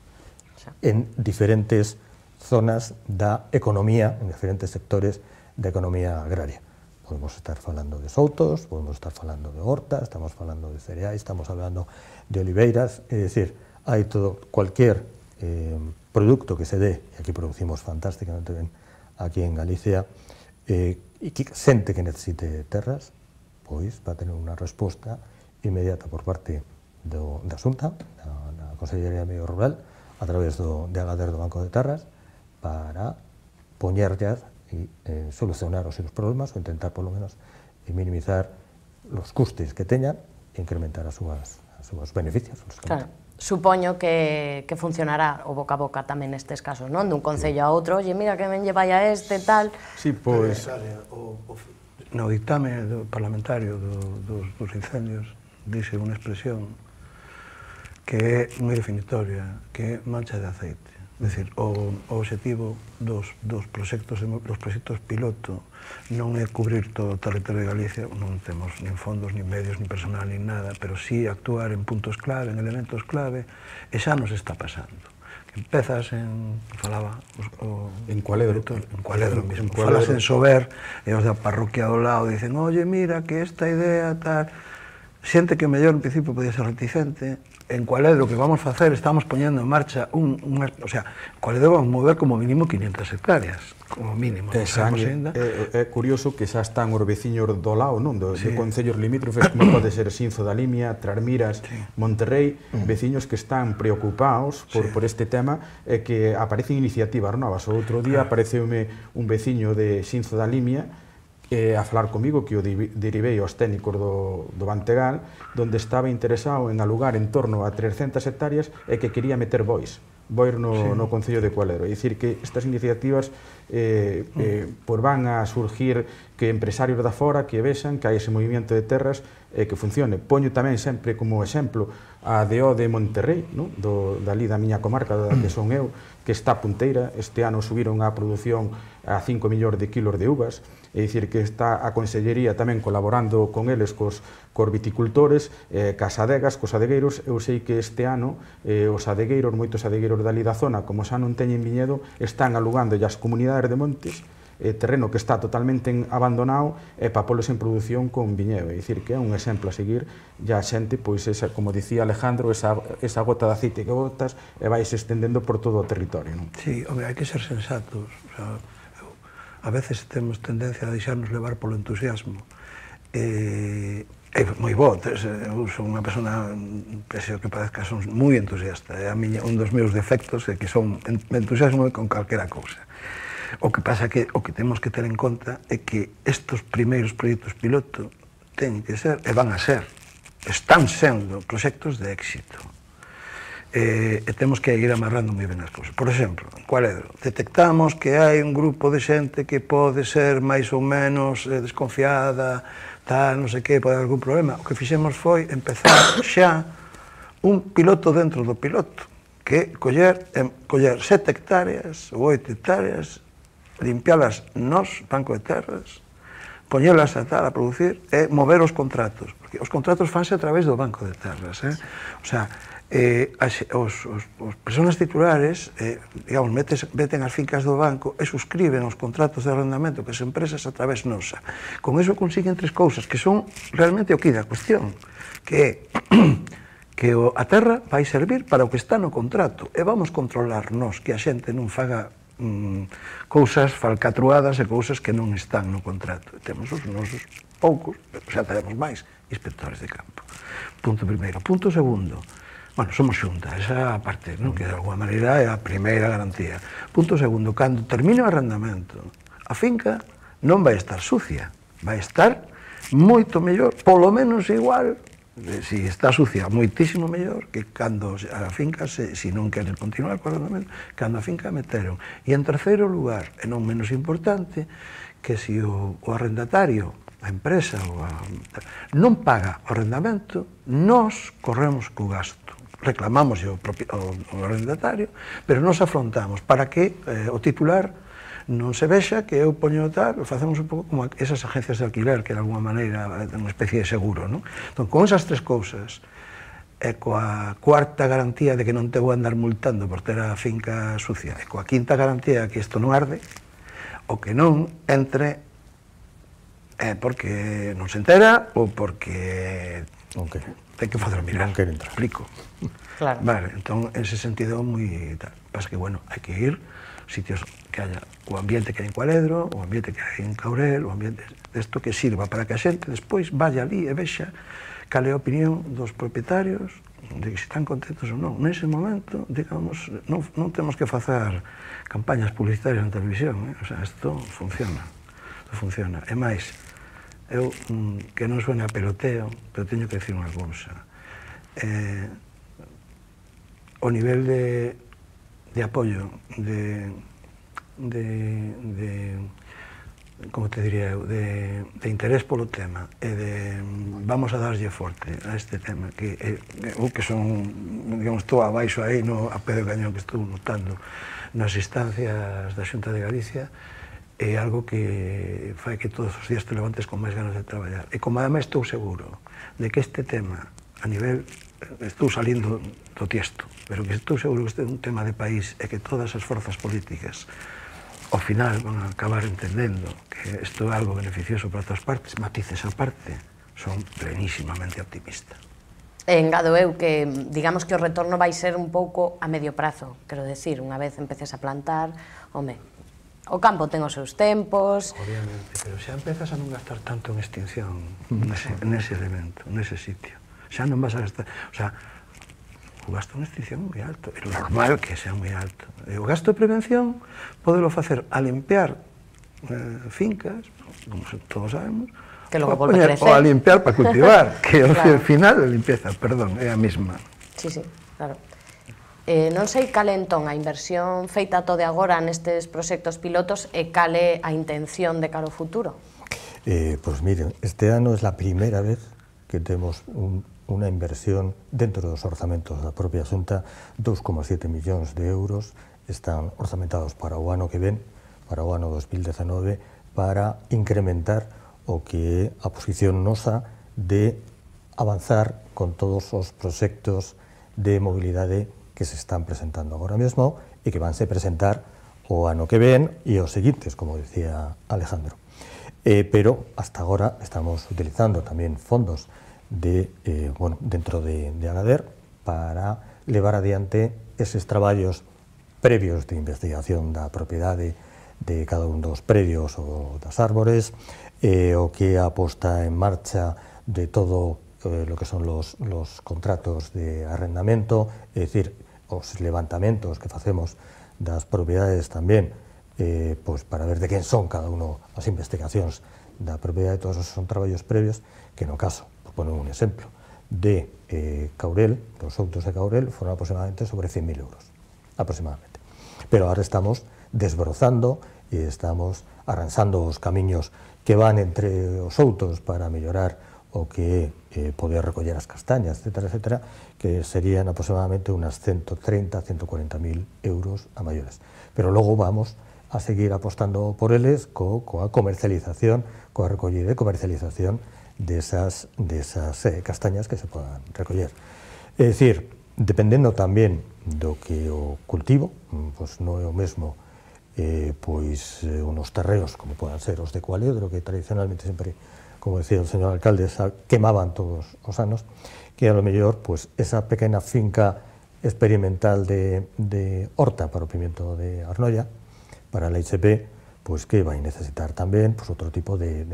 en diferentes zonas da economía, en diferentes sectores da economía agraria. Podemos estar falando de soutos, podemos estar falando de hortas, estamos falando de cereais, estamos hablando de oliveiras, es decir, hay todo, cualquier producto que se dé, y aquí producimos fantásticamente ben aquí en Galicia, e que xente que necesite terras, pois va a tener unha resposta inmediata por parte da Xunta, da Consellería de Medio Rural, a través de Agader do Banco de Terras, para poñerllas e solucionar os seus problemas ou intentar, polo menos, minimizar os custes que teñan e incrementar os seus beneficios. Claro. Supoño que funcionará o boca a boca tamén nestes casos, non? Dun concello a outro, oye, mira que ben lle vai a este, tal... Sí, pois... No dictame parlamentario dos incendios dice unha expresión que é moi definitoria, que é mancha de aceite. É dicir, o obxectivo dos proxectos piloto non é cubrir todo o territorio de Galicia, non temos nin fondos, nin medios, nin personal, nin nada, pero sí actuar en puntos clave, en elementos clave, e xa nos está pasando. Empezas en, falaba en Cualedro mismo, falas en Sober, e os da parroquia do lado dicen, oye, mira, que esta idea, tal, xente que mellor en principio podía ser reticente. En Cualedro, que vamos facer, estamos poñendo en marcha o sea, Cualedro vamos mover como mínimo 500 hectáreas, como mínimo. É curioso que xa están os veciños do lado, non? De concellos limítrofes, como pode ser Sinzo da Limia, Trasmiras, Monterrey, veciños que están preocupados por este tema e que aparecen iniciativas novas. O outro día apareceume un veciño de Sinzo da Limia a falar comigo, que o derivei aos técnicos do Bantegal, donde estaba interesado en alugar en torno a 300 hectáreas e que quería meter bois no Concello de Cualedro. É dicir, que estas iniciativas pues van a surgir, que empresarios da fora que vexan que hai ese movimento de terras que funcione. Poño tamén sempre como exemplo a DO de Monterrey, dali da miña comarca, da que son eu, que está punteira. Este ano subiron a produción a 5 millóns de kilos de uvas. É dicir, que está a Consellería tamén colaborando con eles, cos viticultores, cas adegas, cos adegueiros. Eu sei que este ano os adegueiros, moitos adegueiros dali da zona, como xa non teñen viñedo, están alugando as comunidades de montes terreno que está totalmente abandonado para polos en produción con viñedo. É dicir, que é un exemplo a seguir. E a xente, pois, como dicía Alejandro, esa gota de aceite que botas e vais estendendo por todo o territorio. Sí, hai que ser sensatos. A veces temos tendencia a deixarnos levar polo entusiasmo. É moi bo, eu son unha persona, pese que parezca, son moi entusiasta. É un dos meus defectos, é que son entusiasmo con calquera cousa. O que pasa que o que temos que ter en conta é que estes primeiros proxectos piloto teñen que ser, e van a ser, están sendo proxectos de éxito. E temos que ir amarrando moi ben as cousas. Por exemplo, en Cualedro, detectamos que hai un grupo de xente que pode ser máis ou menos desconfiada, tal, non sei que, pode haber algún problema. O que fixemos foi empezar xa un piloto dentro do piloto, que coller 7 hectáreas ou 8 hectáreas, limpialas nos banco de terras, poñelas a tal a producir e mover os contratos, porque os contratos fanse a través do banco de terras, o sea, os persoas titulares, digamos, meten as fincas do banco e suscriben os contratos de arrendamento que as empresas a través nosa. Con iso consiguen 3 cousas que son realmente o que da cuestión, que é que a terra vai servir para o que está no contrato e vamos controlar nós que a xente non faga cousas falcatruadas e cousas que non están no contrato. Temos os nosos poucos, pero xa teremos máis inspectores de campo. Punto primeiro. Punto segundo, bueno, somos xunta, esa parte, non? Que de alguma maneira é a primeira garantía. Punto segundo, cando termine o arrendamento, a finca non vai estar sucia, vai estar moito mellor, polo menos igual, si está sucia, moitísimo mellor que cando a finca, se non queren continuar co arrendamento, cando a finca meteron. E en terceiro lugar, e non menos importante, que se o arrendatario, a empresa, non paga o arrendamento, nós corremos co gasto. Reclamamos o arrendatario, pero nos afrontamos para que o titular non se vexa que eu poño tal, facemos un pouco como esas agencias de alquiler, que de alguma maneira é unha especie de seguro, non? Entón, con esas tres cousas, e coa cuarta garantía de que non te vou andar multando por ter a finca sucia, e coa quinta garantía que isto non arde, o que non entre é porque non se entera ou porque ten que facer mirar. Non quere entrar. Explico. Claro. Vale, entón, en ese sentido, moi tal. Pasa que, bueno, hai que ir sitios que haya o ambiente que hai en Cualedro, o ambiente que hai en Caurel, o ambiente desto que sirva para que a xente despois vaya ali e vexa cal é a opinión dos propietarios de que se están contentos ou non. Nese momento, digamos, non temos que facer campañas publicitarias na televisión, o sea, isto funciona. Isto funciona. E máis, eu, que non suena a peloteo, pero teño que decir unha cousa. O nivel de apoio, como te diría eu, de interés polo tema e de vamos a darlle forte a este tema que eu que son, digamos, estou abaixo aí a pé do cañón que estou notando nas instancias da Xunta de Galicia é algo que fai que todos os días te levantes con máis ganas de traballar e como ademais estou seguro de que este tema a nivel, estou salindo do tiesto, pero que estou seguro que este é un tema de país e que todas as forzas políticas ao final van a acabar entendendo que isto é algo beneficioso para todas partes, matices a parte, son plenísimamente optimistas. Engado eu que, digamos que o retorno vai ser un pouco a medio prazo, quero decir, unha vez empeces a plantar, home, o campo ten os seus tempos... Obviamente, pero xa empezas a non gastar tanto en extinción nese elemento, nese sitio. Xa non vas a gastar... O sea, o gasto en extinción é moi alto, é normal que sea moi alto. E o gasto de prevención podelo facer a limpiar fincas, como todos sabemos, que logo volve a crecer. Ou a limpiar para cultivar, que ao final a limpieza, perdón, é a mesma. Sí, sí, claro. Non sei cal é entón a inversión feita todo de agora nestes proxectos pilotos e cal é a intención de cara ao futuro? Pues miren, este ano é a primeira vez que temos unha inversión dentro dos orzamentos da propia Xunta, 2,7 millóns de euros están orzamentados para o ano que ven, para o ano 2019, para incrementar o que é a posición nosa de avanzar con todos os proxectos de mobilidade que se están presentando agora mesmo e que vanse presentar o ano que ven e os seguintes, como decía Alejandro. Pero hasta agora estamos utilizando tamén fondos dentro de Agader para levar adiante eses traballos previos de investigación da propiedade de cada un dos predios ou das árbores, o que a posta en marcha de todo lo que son los contratos de arrendamento, é dicir, os levantamentos que facemos das propiedades tamén, pois para ver de quen son cada uno as investigacións da propiedade, todos esos son traballos previos que no caso, por poner un exemplo, de Caurel, dos outos de Caurel, foron aproximadamente sobre 100.000 euros, aproximadamente. Pero ahora estamos desbrozando e estamos arranxando os camiños que van entre os outos para mellorar o que é poder recoller as castañas, etcétera, etcétera, que serían aproximadamente unas 130.000-140.000 euros a maiores. Pero logo vamos a seguir apostando por eles coa comercialización, coa recollida e comercialización desas castañas que se podan recoller. É dicir, dependendo tamén do que o cultivo, pois non é o mesmo pois unos terreos como poden ser os de Cualedro, que tradicionalmente sempre, como decía o señor alcalde, quemaban todos os anos, que a lo mellor pois esa pequena finca experimental de horta para o pimiento de Arnoia, para a ICP, pois que vai necesitar tamén pois outro tipo de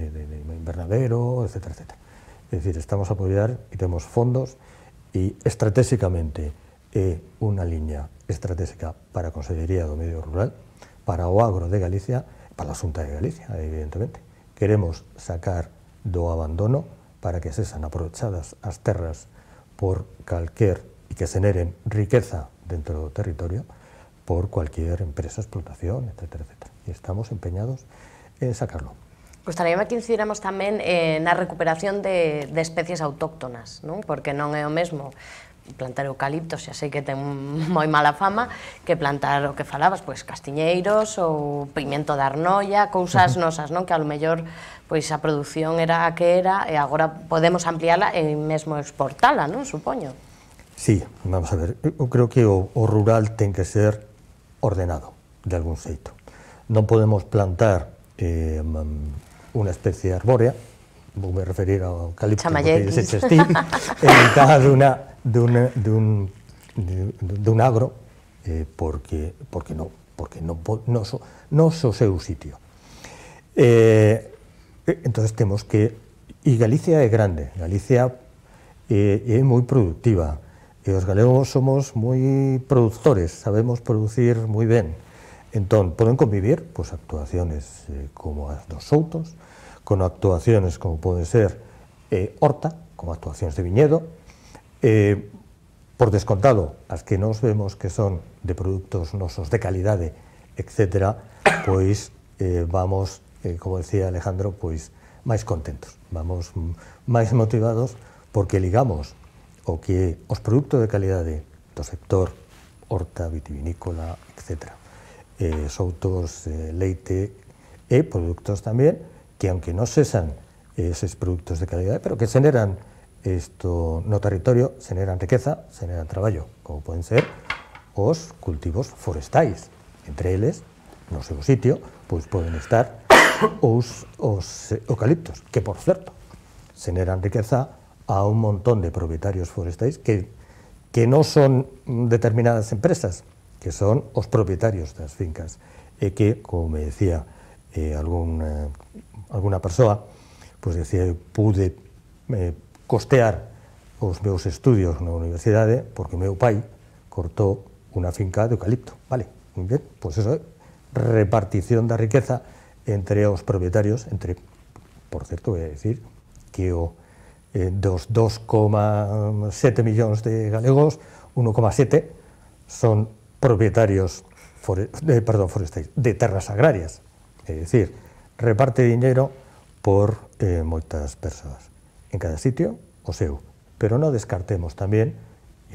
invernadero, etcétera, etcétera. É dicir, estamos a apoiar e temos fondos e estratégicamente é unha liña estratégica para a Consellería do Medio Rural, para o agro de Galicia, para a Xunta de Galicia, evidentemente. Queremos sacar do abandono para que sexan aprovechadas as terras por calquer e que generen riqueza dentro do territorio por cualquier empresa, explotación, etcétera, etcétera. E estamos empeñados en sacarlo. Gostaríame que incidíramos tamén na recuperación de especies autóctonas, non? Porque non é o mesmo plantar eucaliptos, xa sei que ten moi mala fama, que plantar o que falabas, pois castiñeiros ou pimento de arnolla, cousas nosas, non? Que a lo mellor pois a produción era a que era e agora podemos ampliála e mesmo exportala, non? Supoño. Sí, vamos a ver, eu creo que o rural ten que ser ordenado, de algún xeito. Non podemos plantar unha especie arbórea, vou me referir ao eucalipto, porque se chestí, en mitad dun agro, porque non o seu sitio. Entón temos que, e Galicia é grande, Galicia é moi productiva, e os galegos somos moi productores, sabemos producir moi ben. Entón, poden convivir actuaciones como as dos soutos, con actuaciones como pode ser horta, como actuacións de viñedo, por descontado, as que nos vemos que son de produtos nosos de calidade, etc., pois vamos, como decía Alejandro, pois máis contentos, vamos máis motivados, porque ligamos o que os produtos de calidade do sector horta, vitivinícola, etc., soutos, leite e produtos tamén que, aunque non sesan eses produtos de calidade, pero que xeneran isto no territorio, xeneran riqueza, xeneran traballo, como poden ser os cultivos forestais. Entre eles, no seu sitio, pois poden estar os eucaliptos, que, por certo, xeneran riqueza a un montón de propietarios forestais que non son determinadas empresas, que son os propietarios das fincas, e que, como me decía alguna persoa, pois decía, eu pude costear os meus estudios na universidade porque meu pai cortou unha finca de eucalipto, vale, ben, pois eso é repartición da riqueza entre os propietarios, entre, por certo, é dicir, que dos 2,7 millóns de galegos, 1,7 son propietarios forestais, de terras agrarias, é dicir, reparte diñeiro por moitas persoas. En cada sitio, o seu. Pero non descartemos tamén,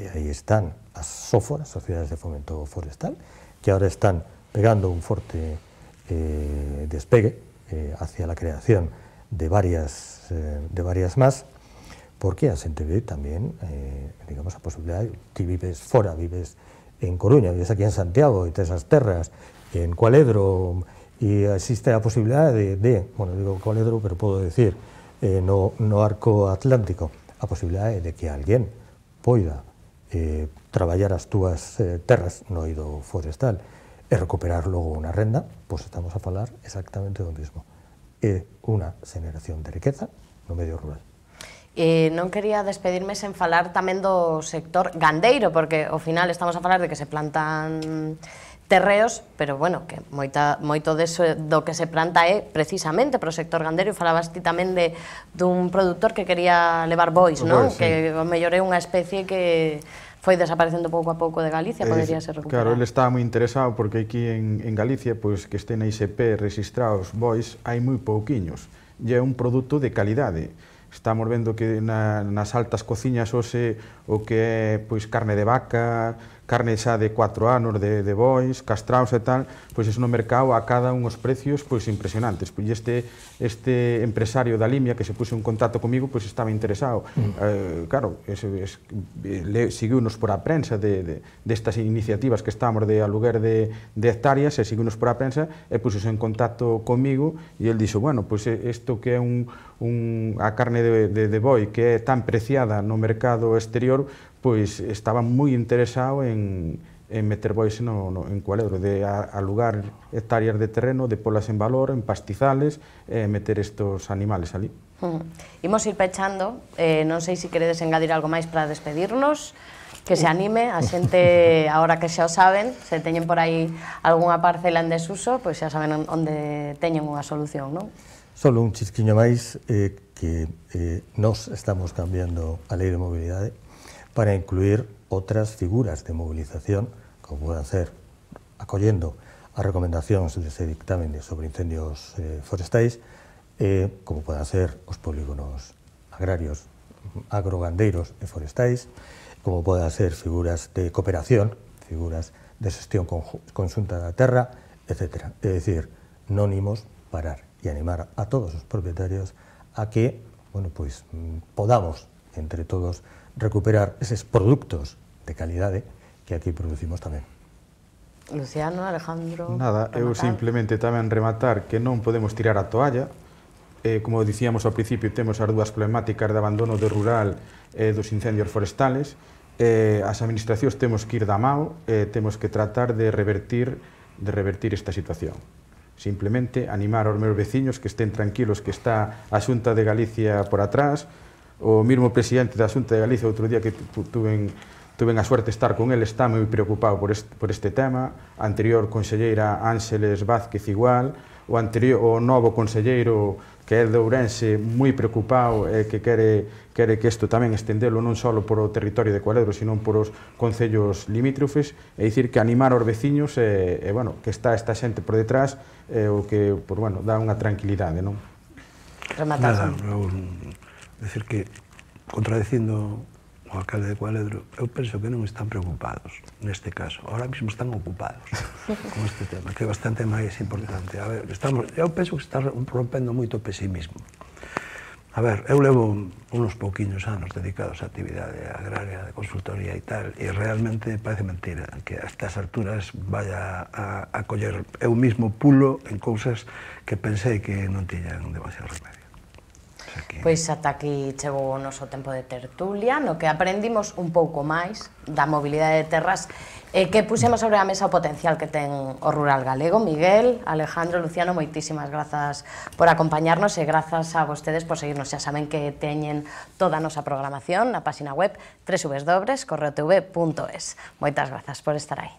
e aí están as SOFOR, as Sociedades de Fomento Forestal, que ahora están pegando un forte despegue hacia la creación de varias más, porque a xente ve tamén, digamos, a posibilidade, ti vives fora, vives en Coruña, vives aquí en Santiago, e tes as terras, en Cualedro, e existe a posibilidade bueno, digo Cualedro, pero podo decir, no arco atlántico, a posibilidade de que alguén poida traballar as túas terras no eido forestal e recuperar logo unha renda, pois estamos a falar exactamente do mesmo. É unha xeneración de riqueza no medio rural. Non quería despedirme sen falar tamén do sector gandeiro, porque ao final estamos a falar de que se plantan terreos, pero bueno, que moito do que se planta é precisamente para o sector gandeiro, e falabas ti tamén dun produtor que quería levar bois, non? Que ao mellor é unha especie que foi desaparecendo pouco a pouco de Galicia, podería ser recuperada. Claro, ele estaba moi interesado porque aquí en Galicia, pois que estén na ISP registrados bois, hai moi pouquiños, e é un produto de calidade. Estamos vendo que nas altas cociñas hoxe o que é pois carne de vaca, carne xa de 4 anos de bois, castraos e tal, pois iso no mercado acada unhos precios pois impresionantes. Pois este empresario da Limia que se puxo en contacto comigo, pois estaba interesado. Claro, seguiunos por a prensa destas iniciativas que estamos de aluguer de hectáreas, e seguiunos por a prensa e puxo en contacto comigo, e el dixo, bueno, pois isto que é a carne de boi que é tan preciada no mercado exterior, pois estaba moi interesado en meter bois en Cualedro, de alugar hectáreas de terreno, de polas en valor, en pastizales, e meter estos animales ali. Imos ir pechando, non sei se queredes engadir algo máis para despedirnos, que se anime, a xente, agora que xa o saben, se teñen por aí algunha parcela en desuso, pois xa saben onde teñen unha solución, non? Solo un chisquiño máis, que nós estamos cambiando a lei de mobilidade para incluir outras figuras de movilización, como poden ser, acollendo as recomendacións dese dictamen sobre incendios forestais, como poden ser os polígonos agrarios, agrogandeiros e forestais, como poden ser figuras de cooperación, figuras de xestión conxunta da terra, etc. É dicir, non imos parar e animar a todos os propietarios a que, bueno, pois, podamos, entre todos, recuperar eses produtos de calidade que aquí producimos tamén. Luciano, Alejandro... Nada, eu simplemente tamén rematar que non podemos tirar a toalla. Como dicíamos ao principio, temos as dúas problemáticas de abandono de rural e dos incendios forestales. As administracións temos que ir da mao, temos que tratar de revertir esta situación. Simplemente animar aos meus veciños que estén tranquilos, que está a Xunta de Galicia por atrás. O mesmo presidente da Xunta de Galicia, outro día que tuve a suerte de estar con ele, está moi preocupado por este tema. A anterior conselleira Ángeles Vázquez igual, o novo conselleiro que é de Ourense moi preocupado e que quere que isto tamén estendelo non só por o territorio de Cualedro, sino por os concellos limítrofes, e dicir que animar aos veciños bueno, que está esta xente por detrás, o que, bueno, dá unha tranquilidade, non? Nada, decir que, contradicindo o alcalde de Cualedro, eu penso que non están preocupados neste caso. Ahora mesmo están ocupados con este tema, que é bastante máis importante. A ver, eu penso que está rompendo moito pesimismo. A ver, eu levo uns pouquiños anos dedicados á actividade agraria, de consultoría e tal, e realmente parece mentira que a estas alturas vaya a coller eu mismo pulo en cousas que pensei que non tiñan demasiado remedio. Pois ata aquí chegou o noso tempo de tertulia, no que aprendimos un pouco máis da mobilidade de terras que pusemos sobre a mesa o potencial que ten o rural galego. Miguel, Alejandro, Luciano, moitísimas grazas por acompañarnos e grazas a vostedes por seguirnos. Xa saben que teñen toda a nosa programación na página web www.correotv.es. Moitas grazas por estar aí.